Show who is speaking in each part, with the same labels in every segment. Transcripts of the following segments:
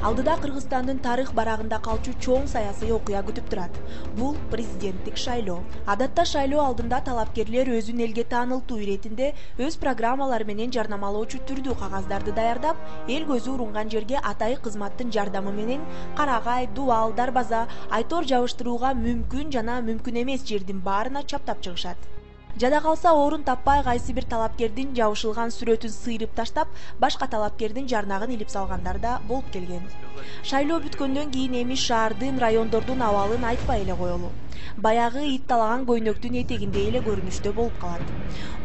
Speaker 1: Алдыда Кыргызстандын тарых барагында калчу чоң саясий окуя күтүп турат. Бул президенттик шайлоо. Адатта шайлоо алдында талапкерлер өзүн элге таанылтуу иретинде өз программалары менен жарнамалоочу түрдүү кагаздарды даярдап, эл көзү урунган жерге атайы кызматтын жардамы менен Карагай, Дубал, Дарбаза, Айтор жабыштырууга мүмкүн жана мүмкүн эмес жердин баарына чаптап чыгышат. Жада калса орун таппай кайсы бир талапкердин жабышылган сүрөтүн сыйрып таштап, башка талапкердин жарнагын илип салгандар да болуп келген. Шайлоо бүткөндөн кийин эми шаардын, райондордун абалын айтпай эле коелу. Баягы ит талаган көйнөктүн этегиндей эле көрүнүштө болуп калат.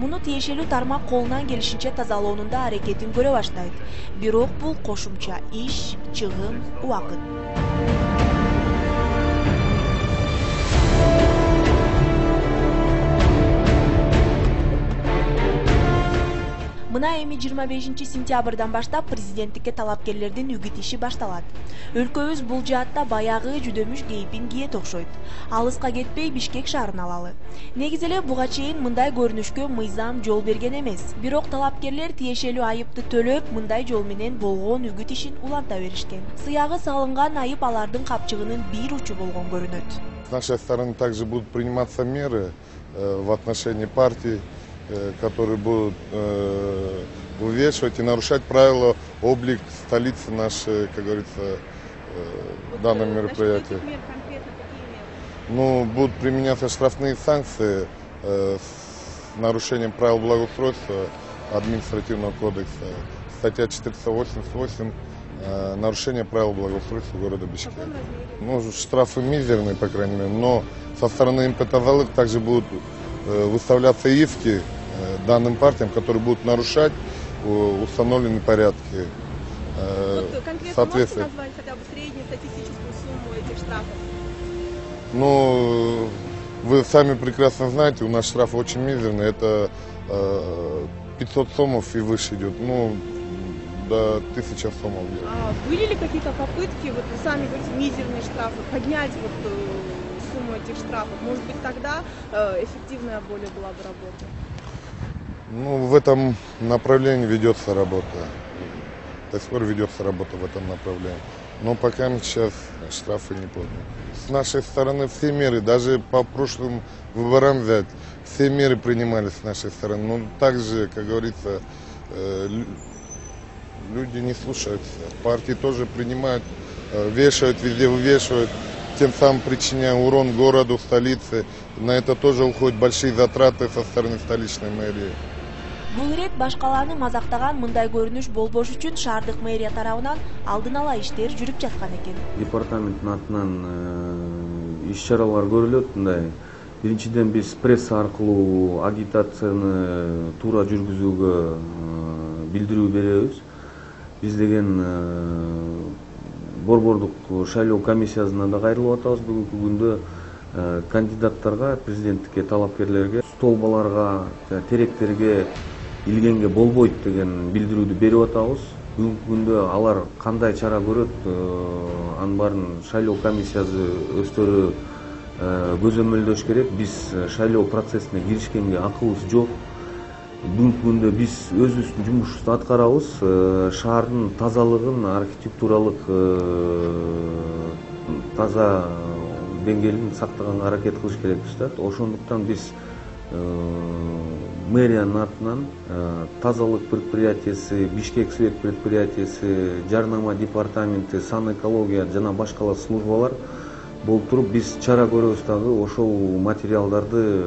Speaker 1: Муну тиешелүү тармак колунан келишинче тазалоонун да аракетин көрө баштайт. Бирок бул кошумча иш, чыгым, убакыт. Мына эми 25-сентябрдан баштап президенттикке талапкерлердин үгүт иши башталат. Өлкөбүз бул жаатта баягы жүдөмүш кейпин кийет окшойт. Алыска кетпей Бишкек шаарын алалы. Негизи эле буга чейин мындай көрүнүшкө мыйзам жол берген эмес. Бирок талапкерлер тиешелүү айыпты төлөп, мындай жол менен болгон үгүт ишин уланта беришкен. Сыягы салынган айып алардын капчыгынын бир учу болгон көрүнөт.
Speaker 2: С нашей стороны также будут приниматься меры в отношении партий, которые будут вывешивать и нарушать правила, облик столицы нашей, как говорится, данном мероприятии. Ну, будут применяться штрафные санкции с нарушением правил благоустройства административного кодекса. Статья 488 нарушение правил благоустройства города Бишкек. Ну, штрафы мизерные, по крайней мере, но со стороны МП «Тазалык» также будут выставляться иски данным партиям, которые будут нарушать установленные порядки.
Speaker 3: Конкретно можете назвать хотя бы среднюю статистическую сумму этих штрафов?
Speaker 2: Ну, вы сами прекрасно знаете, у нас штраф очень мизерный, это 500 сомов и выше идет, ну, до 1000 сомов.
Speaker 3: А были ли какие-то попытки, вот вы сами говорите, мизерные штрафы, поднять вот сумму этих штрафов? Может быть, тогда эффективная более была бы работа?
Speaker 2: Ну, в этом направлении ведется работа. До сих пор ведется работа в этом направлении. Но пока сейчас штрафы не подняты. С нашей стороны все меры, даже по прошлым выборам взять, все меры принимались с нашей стороны. Но также, как говорится, люди не слушаются. Партии тоже принимают, вешают, везде вывешивают, тем самым причиняя урон городу, столице. На это тоже уходят большие затраты со стороны столичной мэрии.
Speaker 1: Бул ирет башкаланы мазактаган мындай көрүнүш болбош үчүн шаардык мэрия тарабынан алдын ала иштер жүрүп жаткан экен.
Speaker 4: Департаменттин атынан иш-чаралар көрүлөт. Мындай биринчиден биз пресса аркылуу агитацияны туура жүргүзүүгө билдирүү беребиз. Биз деген борбордук шайлоо комиссиясына да кайрылып атабыз. Бүгүнкү күндө кандидаттарга, президенттикке талапкерлерге столбаларга, теректерге илгенге болбойт деген билдирүүдү берип атабыз. Бүгүнкү күндө алар кандай чара көрөт, анын баарын шайлоо комиссиясы өздөрү көзөмөлдөш керек. Биз шайлоо процессине киришкенге акыбыз жок. Бүгүнкү күндө биз өзүбүздүн жумушубузду аткарабыз. Шаардын тазалыгын, архитектуралык таза деңгээлин сактаганга аракет кылыш керекпиз да. Ошондуктан биз мэриянын атынан тазалык предприятиясы, Бишкек свет предприятиясы, жарнама департаменти, санэкология жана башкалар службалар болуп туруп биз чара көрөбүз дагы, ошол материалдарды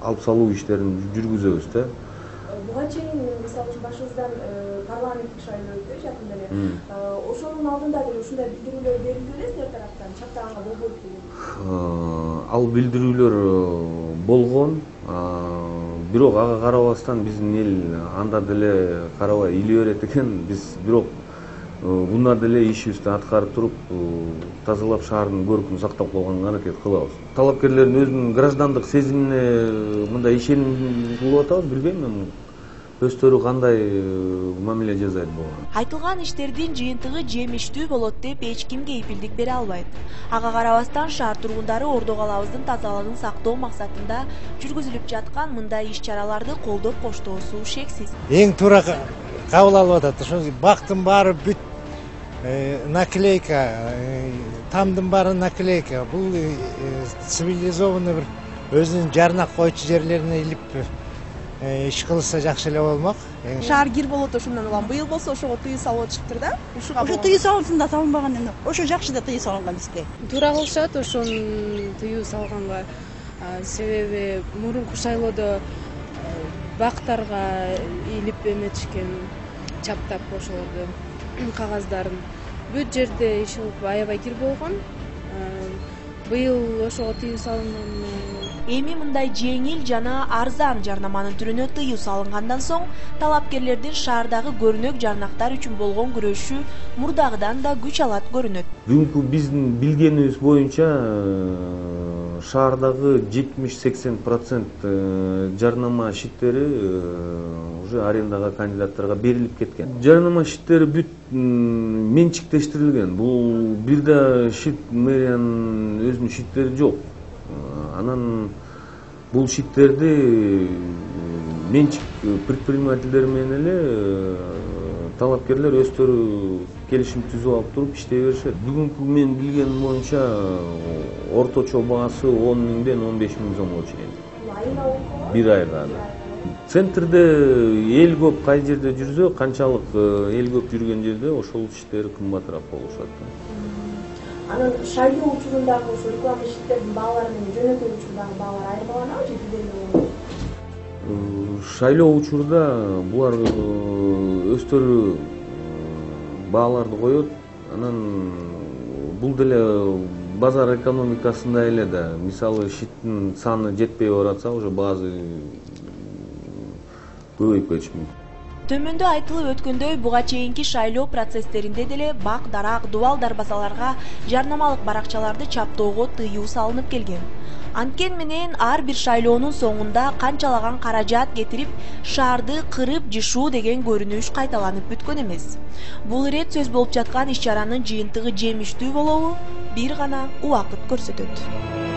Speaker 4: алып салуу иштерин жүргүзөбүз да.
Speaker 5: Буга чейин мисалы үчүн башыбыздан парламенттик шайлоо өтүп жакында эле. Ошонун алдында деле ушундай билдирүүлөр берилди беле силер тараптан, чактаганга болбойт деген.
Speaker 4: Ал билдирүүлөр болгон, бирок ага карабастан биздин эл анда деле карабай иле берет экен. Биз бирок мында деле ишибизди аткарып туруп, тазалап шаардын көркүн сактап калганга аракет кылабыз. Талапкерлердин өзүнүн граждандык сезимине мындай ишеним кылып атабыз, билбейм мен. Өздөрү кандай мамиле жасайт буга.
Speaker 1: Айтылган иштердин жыйынтыгы жемиштүү болот деп эч ким кепилдик бере албайт. Ага карабастан шаар тургундары Ордо калабыздын тазалыгын сактоо максатында жүргүзүлүп жаткан мындай иш-чараларды колдоп коштоосу шексиз.
Speaker 6: Эң туура кабыл алып атат. Ошо бактын баары бүт наклейка, тамдын баары наклейка. Бул цивилизованный бир өзүнүн жарнак койчу жерлерине илип иш кылса жакшы эле болмок.
Speaker 3: Шаар кир болот ошондон улам. Быйыл болсо ошого тыюу салып атышыптыр да? Ушуга
Speaker 7: Ошо тыюу салынсын да салынбаган эмне. Ошо жакшы да тыюу салынган бизге.
Speaker 8: Туура кылышат ошонун тыюу салганга. Себеби мурунку шайлоодо бактарга илип эметишкен, чаптап ошолорду кагаздарын. Бүт жерде иш кылып аябай кир болгон. Быйыл ошого тыюу салынган.
Speaker 1: Эми мындай жеңил жана арзан жарнаманын түрүнө тыюу салынгандан соң талапкерлердин шаардагы көрүнөк жарнактар үчүн болгон күрөшү мурдагыдан да күч алат көрүнөт.
Speaker 4: Бүгүнкү биздин билгенибиз боюнча шаардагы 70-80% жарнама шиттери уже арендага кандидаттарга берилип кеткен. Жарнама шиттери бүт менчиктештирилген. Бул бир да шит мэриянын өзүнүн шиттери жок. Анан бул шиттерди менчик предпринимательдер менен эле талапкерлер өздөрү келишим түзүп алып туруп иштей беришет. Бүгүнкү мен билгеним боюнча орточо баасы 10 миңден 15 миң сомго чейин. Бир айга. Центрде эл көп кай жерде жүрсө, канчалык эл көп жүргөн жерде ошол иштер кымбатыраак болушат.
Speaker 5: Анан шайлоо учурундагы ошо реклама шиттердин баалары менен жөнөкөй учурдагы баалар айырмаланабы же бирдей эле?
Speaker 4: Шайлоо учурда булар өздөрү бааларды коет. Анан бул деле базар экономикасында эле да. Мисалы шиттин саны жетпей баратса, уже баасы көбөйүп кетиши мүмкүн.
Speaker 1: Төмөндө айтылып өткөндөй буга чейинки шайлоо процесстеринде деле бак, дарак, дубал дарбазаларга жарнамалык баракчаларды чаптоого тыюу салынып келген. Анткени менен ар бир шайлоонун соңунда канчалаган каражат кетирип, шаарды кырып жышуу деген көрүнүш кайталанып бүткөн эмес. Бул ирет сөз болуп жаткан иш чаранын жыйынтыгы жемиштүү болобу? Бир гана убакыт көрсөтөт.